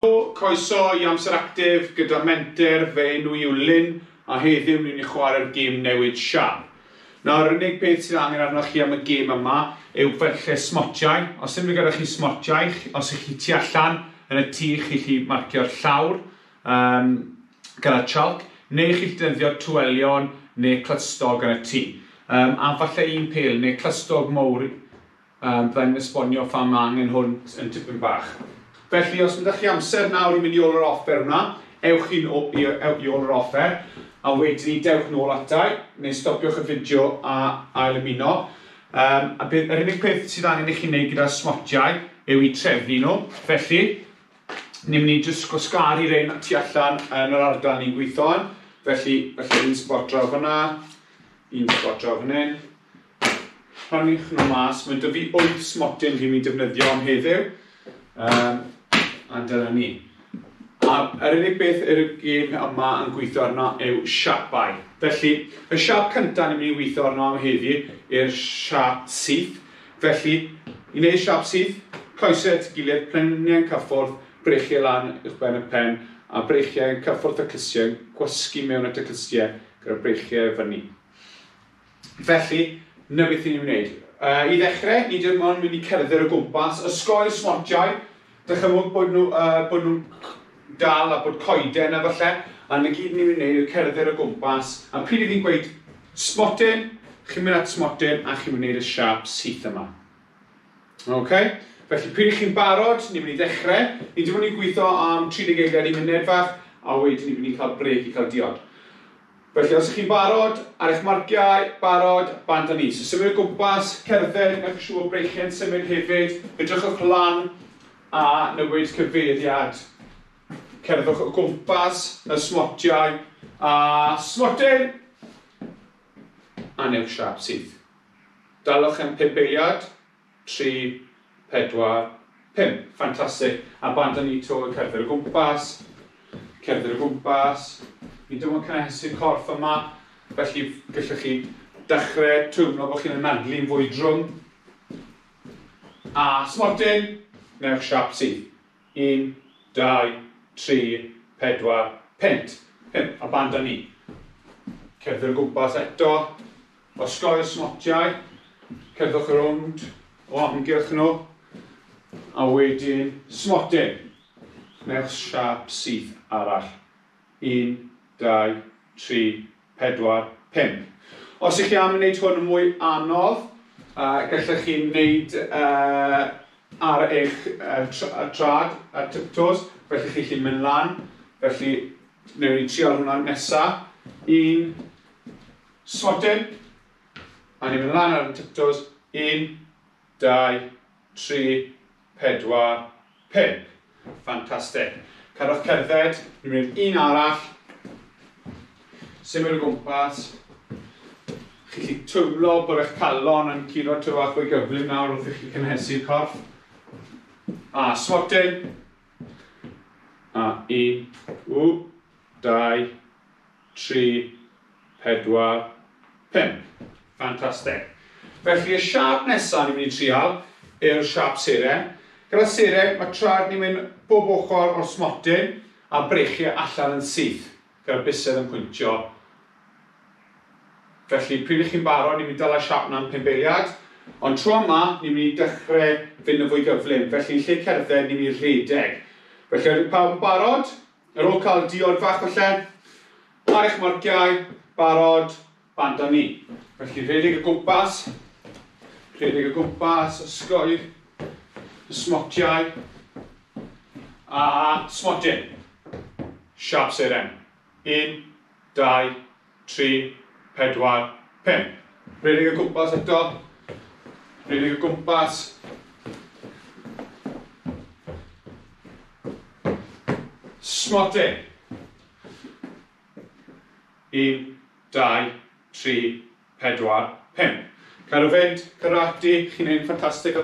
Croeso i Amser Actif gyda Menter, fy enw i yw Lyn a heddiw ni'n mynd i chwarae'r gêm newid siâp. Nawr, yr unig peth sydd angen arnoch chi am y gêm yma yw falle smotiau. Os ddim gyda chi smotiau, os ych chi tu allan yn y tŷ, chi 'llu marcio'r llawr gyda chalk, neu chi 'llu defnyddio twelion neu clustog yn y tŷ. A falle un pêl neu clustog mowr. Byddai'n esbonio pham mae angen hwn yn tipyn bach. Felly, os ydych chi amser nawr i mynd i ôl yr offer hwnna, ewch i, i, i ôl yr offer, a wedyn ni dewch nôl atai, neu stopiwch y fideo a ail ymuno. A bydd, yr unig peth sydd angen i chi wneud gyda'r smotiau yw i trefnu nhw. Felly, ni'n mynd i jyst gwasgaru rein tu allan yn yr ardal ni'n gweithio yn. Felly, felly un spot draw fyna, un spot draw fan hyn. Rhannwch nhw mas. Mae 'da fi 8 smotyn fi'n mynd i defnyddio am heddiw. A dyna ni. A yr unig beth yr gêm yma yn gweithio arno yw siapau. Felly, y siap cyntaf ni'n mynd i weithio arno am heddi yw'r siap syth. Felly, i wneud siap syth, coesau at ei gilydd, plenniau'n cyffwrdd, breichiau lan uwchben y pen, a breichiau'n cyffwrdd y clustiau, gwasgu mewn at y clustiau gyda'r breichiau fyny. Felly, 'na beth ni'n wneud. I ddechrau, ni dim ond mynd i cerdded o gwmpas, osgoi'r smotiau, dychymwg bod nhw, bod nhw'n dal a bod coeden a falle, a 'na gyd ni'n mynd i wneud yw cerdded o gwmpas, a pryd i fi'n gweud smotyn, chi'n mynd at smotyn a chi'n mynd i wneud y siâp syth yma. Ok, felly pryd i chi'n barod, ni'n mynd i ddechrau. Ni dim ond i gweithio am 30 eiliad i munud fach, a wedyn ni'n mynd i cael brêc i cael diod. Felly os ych chi'n barod, ar eich marciau, barod, bant â ni. So symud o gwmpas, cerdded, gwnewch yn siŵr bod breichiau'n symud hefyd, edrychwch lan a newid cyfeiriad. Cerddwch o gwmpas y smotiau a smotyn! A newch siâp syth. Dalwch am 5 eiliad, 3, 4, 5. Ffantastig. A bant â ni 'to, cerdded o gwmpas, cerdded o gwmpas. Ni dim ond cynhesu'r corff yma, felly gallwch chi dechrau teimlo bod chi'n anadlu'n fwy drwm. A smotyn, newch siâp syth. 1, 2, 3, 4, 5. 5. A bant â ni. Cerdded o gwmpas eto. Osgoi'r smotiau, cerddwch rownd o amgylch nhw, a wedyn smotyn. Newch siâp syth arall. 1, 2, 3, 4, 5. Os ych chi am wneud hwn yn mwy anodd, gallech chi wneud ar eich trad, ar tiptoes, felly chi chi'n mynd lan. Felly, wnewn ni trial hwnna nesa. 1, smotyn, a ni'n mynd lan ar y tiptoes, 1, 2, 3, 4, 5. Ffantastig. Cadwch cerdded, ni'n mynd un arall, symud o gwmpas. Chi'n gallu teimlo bod eich calon yn curo tyw bach fwy gyflym nawr wrth i chi cynhesu'r corff. A smotyn. A 1, 2, 3, 4, 5. Ffantastig. Felly y siâp nesaf ni'n mynd i trial yw'r siâp seren. Gyda seren, mae traed ni'n mynd bob ochr o'r smotyn a breichiau allan yn syth, gyda'r bysedd yn pwyntio. Felly, pryd ych chi'n barod, ni'n mynd i dala siâp 'na am 5 eiliad. Ond tro yma, ni'n mynd i dechrau fynd yn fwy gyflym. Felly, yn lle cerdded, ni'n mynd i rhedeg. Felly, ydych pawb yn barod? Ar ôl cael diod fach falle, ar eich marciau, barod, bant â ni. Felly rhedeg o gwmpas, rhedeg o gwmpas, osgoi'r smotiau, a smotyn. Siâp seren. 1, 2, 3, 4, 5. Rhedeg o gwmpas eto. Rhedeg o gwmpas. Smotyn. 1, 2, 3, 4, 5. Cadw fynd, cadw ati, chi'n neud yn ffantastig.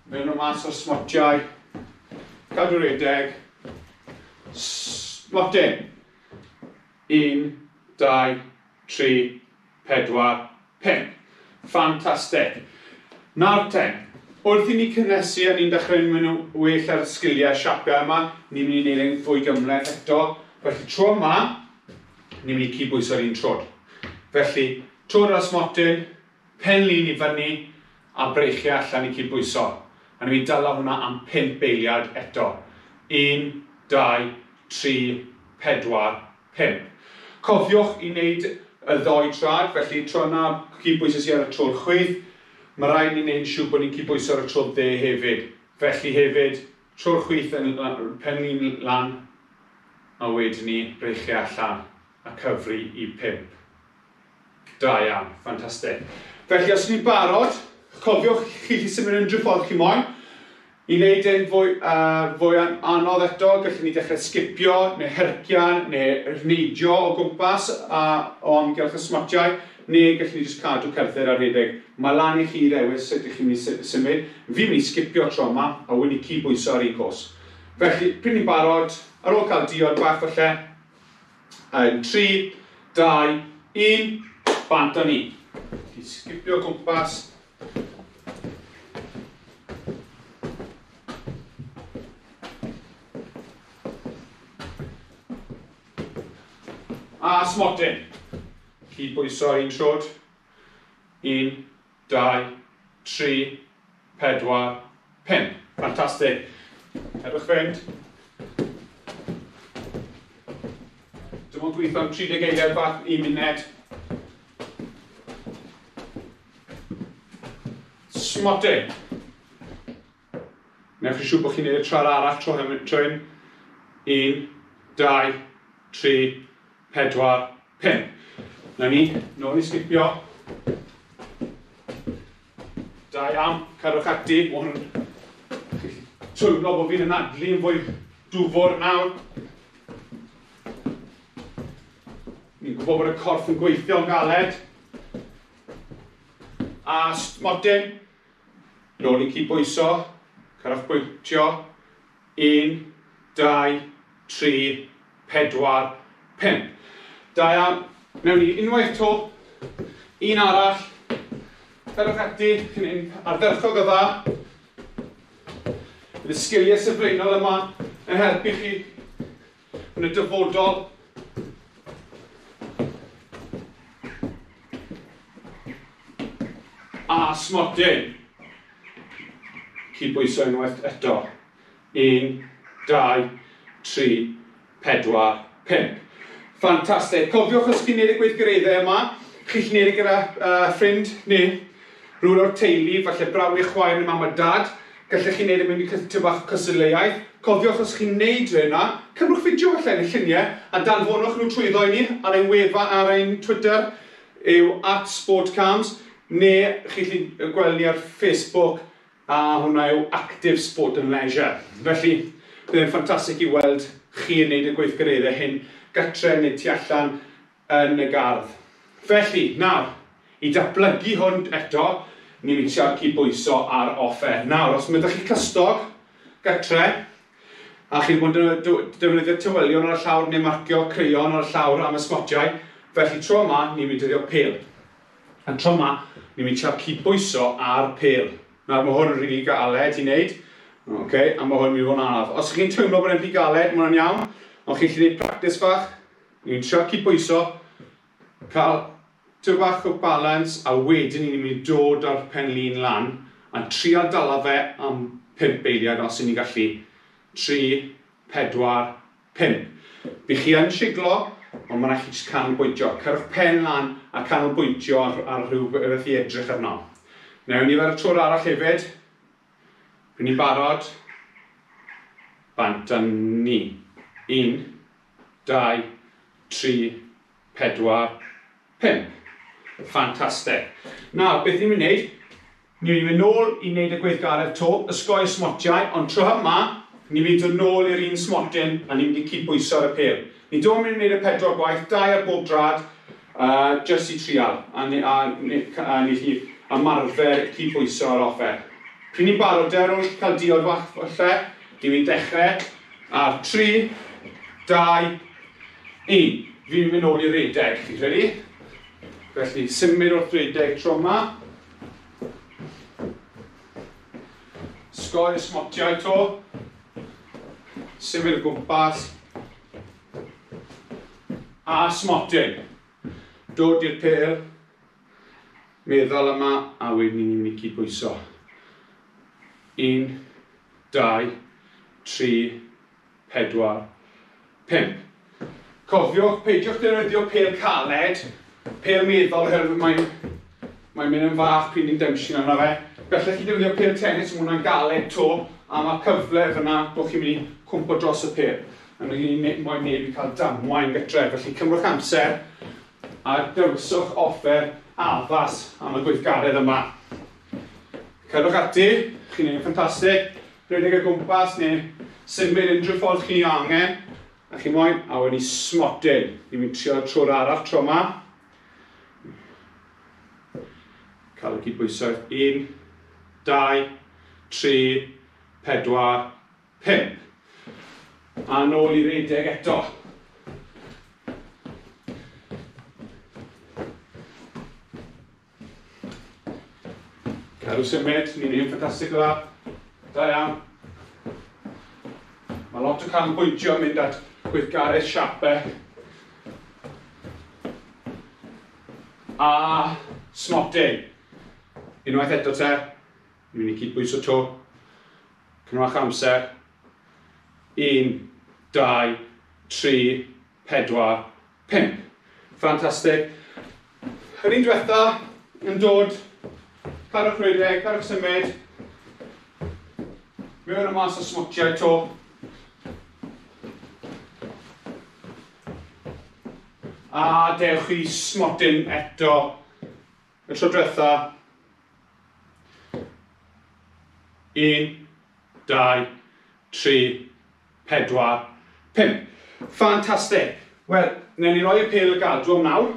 Mewn o mas o'r smotiau. Cadw redeg. Smotyn. 1, 2, 3, 4, 5. Ffantastig. Nawr te, Wrth i ni cynnesu a ni'n dechrau mynd yn well ar sgiliau siapiau yma, ni'n mynd i wneud e'n fwy gymhleth eto. Felly tro yma, ni'n mynd i cydbwyso'r un troed. Felly, troed ar y smotyn, pen lin i fyny, a breichiau allan i cydbwyso. A ni'n mynd i dala hwnna am 5 eiliad eto. 1, 2, 3, 4, 5. Cofiwch i wneud y ddoi trad, felly tro yna cydbwyso sy ar y troed chwith, mae rhaid ni wneud yn siŵr bod ni'n cydbwyso ar y troed dde hefyd. Felly hefyd, troed chwith yn pen lin lan, a wedyn ni breichiau allan a cyfri i 5. Da iawn, ffantastig. Felly os ni'n barod, cofiwch chi gallu symud unrhyw ffordd chi moyn. I wneud e'n fwy anodd eto, gallwn ni dechrau sgipio, neu hercian, neu neidio o gwmpas o amgylch y smotiau, neu gallwn ni jyst cadw cerdded a rhedeg. Mae lan i chi ddewis sut ydych chi'n mynd i symud. Fi'n mynd i sgipio tro yma, a wedi cydbwyso ar un cos. Felly, pryd ni'n barod, ar ôl cael diod bach falle, yn 3, 2, 1, bant â ni. Sgipio o gwmpas. A smotyn. Cydbwyso ar un troed. 1, 2, 3, 4, 5. Ffantastig. Cerwch fynd. Dim ond gweithio am 30 eiliad bach, 1 munud. Smotyn. Newch chi siŵr bod chi'n gwneud y tra'r arall tro hyn. 1, 2, 3, 4, 5. Na ni, nôl i sgipio. Da iawn, cadwch ati. Mae hwn yn teimlo bod fi'n anadlu yn fwy dwfr nawr. Ni'n gwybod bod y corff yn gweithio'n galed. A smotyn. Nôl i cydbwyso. Cadwch bwyntio. 1, 2, 3, 4, 5. Da iawn. Newn ni unwaith to. Un arall. Cadwch ati. Chi'n un ardderchog o dda. Bydd y sgiliau sylfaenol yma yn helpu chi yn y dyfodol. A smotyn. Cydbwyso unwaith eto. 1, 2, 3, 4, 5. Ffantastig. Cofiwch os chi'n gwneud y gweithgareddau yma, chi'n gwneud e gyda ffrind neu rhywun o'r teulu, falle brawd neu chwaer neu mam a dad. Gallech chi wneud e mewn i tipyn bach o cystadleuaeth. Cofiwch os chi'n wneud hynna, cymrwch fideo falle neu lluniau a danfonwch nhw trwyddo i ni ar ein wefan, ar ein Twitter yw @sportcams, neu chi'n gallu gweld ni ar Facebook, a hwnna yw Active Sport and Leisure. Felly, bydd e'n ffantastig i weld chi yn wneud y gweithgareddau hyn gatre neu tu allan yn y gardd. Felly, nawr, i datblygu hwn eto, ni'n mynd i siarad cydbwyso ar offer. Nawr, os mae ydych chi clustog gatre, a chi'n bod yn defnyddio tywelion ar y llawr neu marcio crayon ar y llawr am y smotiau, felly tro yma, ni'n mynd i defnyddio pêl. A tro yma, ni'n mynd i siarad cydbwyso ar pêl. Nawr, mae hwn yn rili galed i wneud, okay, a mae hwn yn mynd i fod yn anodd. Os chi'n teimlo bod e'n rhy galed, mae hwnna'n iawn, ond chi'n gallu gwneud practice fach, ni'n trio cydbwyso, cael tipyn bach o balance, a wedyn ni'n mynd i dod â'r pen lin lan, a trio dala fe am 5 eiliad os 'yn ni'n gallu. 3, 4, 5. By chi yn siglo, ond mae'n rhaid chi jyst canolbwyntio. Cerwch pen lan a canolbwyntio ar rhywbeth i edrych arno. Newn ni fer y tro'r arall hefyd. Rydyn ni'n barod. Bant â ni. 1, 2, 3, 4, 5. Ffantastig. Nawr, beth ni'n mynd i wneud? Ni'n mynd i fynd nôl i wneud y gweithgaredd to, ysgoi smotiau, ond tro yma, ni'n mynd i dod nôl i'r un smotyn a ni'n mynd i cydbwyso ar y pêl. Ni ddim yn mynd i wneud y 4 gwaith, 2 ar bob drad, jyst i trial, a ni chi ymarfer cydbwyso ar offer. Pryd ni'n barod, ar ôl cael diod fach falle, ni'n mynd i dechrau ar 3, 2, 1. Fi'n mynd nôl i redeg, chi'n credu? Felly, symud wrth redeg tro yma. Sgoi y smotiau to. Symud o gwmpas. A smotyn. Dod i'r pêl. Meddwl yma, a wedyn ni'n mynd i cydbwyso. 1, 2, 3, 4, 5. Cofiwch, peidiwch defnyddio pêl caled, pêl meddwl, oherwydd mae'n mynd yn fach pryd ni'n dawnsio arno fe. Gallech chi defnyddio pêl tennis, mae hwnna'n galed to, a mae cyfle fyna bod chi'n mynd i cwmpo dros y pêl. A ni'n moyn neb i cael damwain gytre, felly cymrwch amser a dewiswch offer addas am y gweithgaredd yma. Cerwch ati, chi'n neud yn ffantastig, rhedeg o gwmpas neu symud unrhyw ffordd chi angen. A chi moyn, a wedyn ni smotyn. Ni'n mynd trio trwy'r arall tro yma. Cael y cydbwysedd. 1, 2, 3, 4, 5. A nôl i redeg eto. Cadw symud, ni'n un ffantastig o dda. Da iawn. Mae lot o canolbwyntio yn mynd at gweithgaredd siapau. A smotyn. Unwaith eto te, ni'n mynd i cydbwyso to. Cymrwch amser. 1, 2, 3, 4, 5. Ffantastig. Yr un diwetha yn dod, cadwch rhedeg, cadwch symud. Mewn a mas o smotiau to. A dewch i smotyn eto. Y tro diwetha. 1, 2, 3, 4, 5. Ffantastig. Wel, newn ni roi y pêl y gadw am nawr.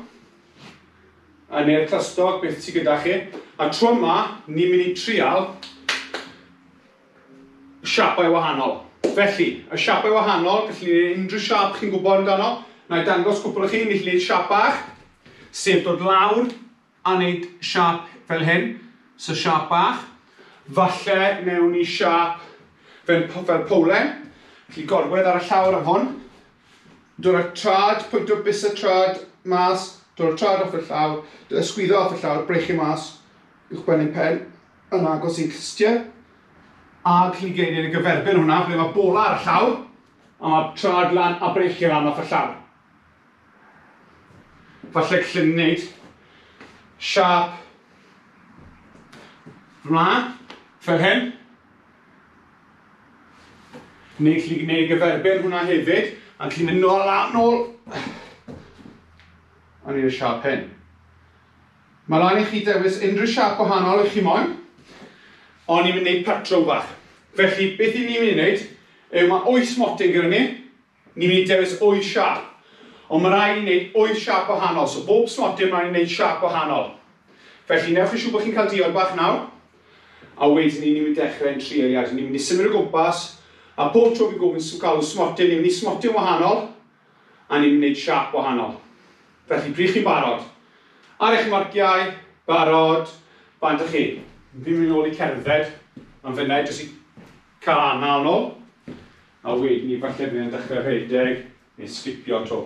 A neu'r clustog, beth sydd gyda chi. A tro yma, ni'n mynd i trial siapau wahanol. Felly, y siapau wahanol, gallu ni wneud unrhyw siap chi'n gwybod amdano. Na i dangos cwpl o chi, ni'n gallu gwneud siap bach, sef dod lawr a wneud siap fel hyn. So siap bach. Falle newn ni siap fel powlen. Gallu gorwedd ar y llawr am hwn. Dod â'r trad, pwyntio bys y trad mas, dod â'r trad off y llawr, ysgwyddo off y llawr, breichu mas, uwchben ein pen, yn agos i'n clustiau. A gallu gwneud y gyferbyn hwnna, ble mae bola ar y llawr, a mae trad lan a breichu lan off y llawr. Falle gallu gwneud siap mlaen, fel hyn. Neu gallu gwneud gyferbyn hwnna hefyd, a gallu mynd nôl a nôl. A wneud y siap hyn. Mae lan i chi dewis unrhyw siap gwahanol i chi moyn, ond ni'n mynd i wneud patrwm bach. Felly, beth i ni'n mynd i wneud, yw mae 8 smotyn gyda ni, ni'n mynd i dewis 8 siap. Ond mae rhaid i ni wneud 8 siap wahanol, so bob smotyn mae'n rhaid i wneud siap wahanol. Felly, newch yn siŵr bod chi'n cael diod bach nawr, a wedyn ni'n mynd i dechrau yn 3 eiliad. Ni'n mynd i symud o gwmpas, a pob tro fi'n gofyn galw smotyn, ni'n mynd i smotyn wahanol, a ni'n mynd i wneud siap wahanol. Felly, pryd chi'n barod? Ar eich marciau, barod, bant â chi. Fi'n mynd nôl i cerdded am funud, jyst i cael anal nôl. A wedyn ni falle bydd yn dechrau rhedeg neu sgipio to.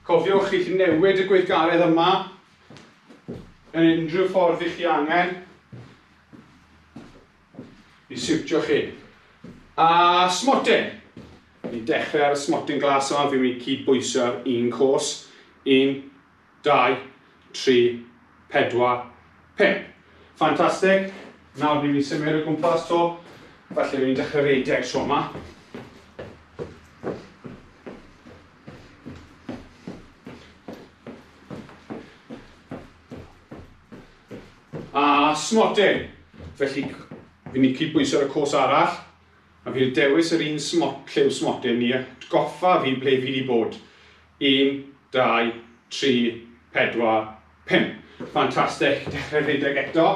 Cofiwch chi gallu newid y gweithgaredd yma yn unrhyw ffordd i chi angen i siwtio chi. A smotyn. Ni'n dechrau ar y smotyn glas yma, fi'n mynd i cydbwyso ar un cos. 1, 2, 3, 4, 5. Ffantastig. Nawr ni'n mynd i symud o gwmpas to. Falle fi'n mynd i dechrau rhedeg tro yma. A smotyn. Felly, fi'n mynd i cydbwyso ar y cos arall. A fi'n dewis yr un lliw smotyn ni, atgoffa fi ble fi wedi bod. 1, 2, 3, 4, 5. Ffantastig. Dechrau rhedeg eto.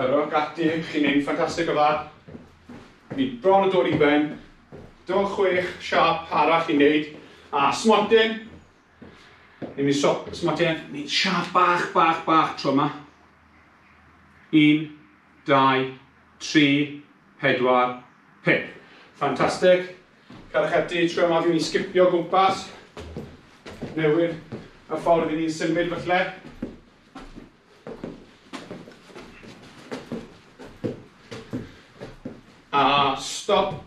Cerwch ati, chi'n neud ffantastig o dda. Ni bron o dod i ben. Dim ond 6 siâp arall i wneud. A smotyn. Ni'n mynd smotyn. Ni'n siâp bach, bach, bach tro yma. 1, 2, 3, 4, 5. Ffantastig. Cadwch ati, tro yma fi'n mynd i sgipio gwmpas. Newid y ffordd i ni'n symud falle. A stop.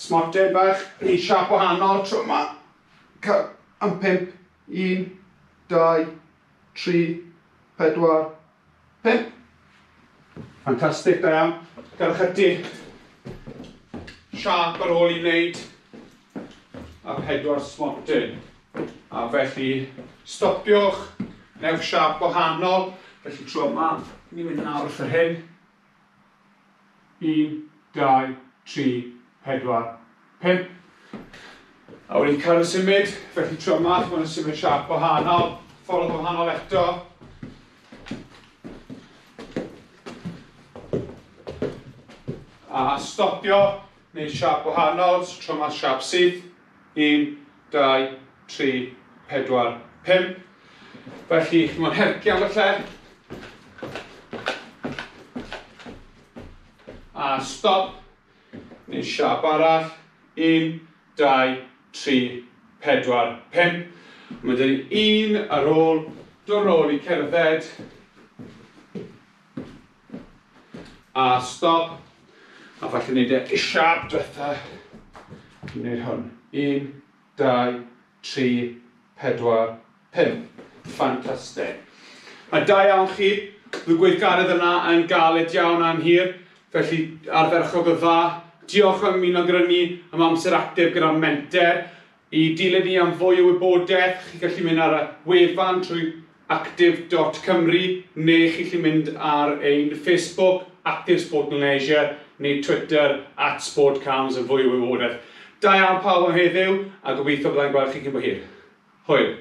Smotyn bach, ni siâp wahanol tro yma. Am 5. 1, 2, 3, 4, 5. Ffantastig, da iawn. Gadwch ati. Siâp ar ôl i wneud. A 4 smotyn. A felly, stopiwch. Newch siâp wahanol. Felly tro yma, ni'n mynd nawr wrth yr hyn. 1, 2, 3, 4, 5. A wedyn cael y symud, felly tro yma, chi'n symud siâp wahanol, ffordd wahanol eto. A stopio, neu siâp wahanol, so tro yma siâp syth. 1, 2, 3, 4, 5. Felly, chi'n mynd hercian falle. A stop, neu siâp arall. 1, 2, 3, 4, 5. Mae dyn ni un ar ôl, dod nôl i cerdded. A stop. A falle wneud e siâp diwetha. Wneud hwn. 1, 2, 3, 4, 5. Ffantastig. A da iawn chi. Bydd y gweithgaredd yna yn galed iawn a'n hir. Felly ardderchog o dda. Diolch am ymuno gyda ni am amser actif gyda Menter. I dilyn ni am fwy o wybodaeth, chi'n gallu mynd ar y wefan trwy actif.cymru neu chi'n gallu mynd ar ein Facebook, Active Sport and Leisure, neu Twitter, @sportcams am fwy o wybodaeth. Da iawn pawb am heddiw, a gobeithio byddai'n gweld chi cyn bo hir. Hwyl!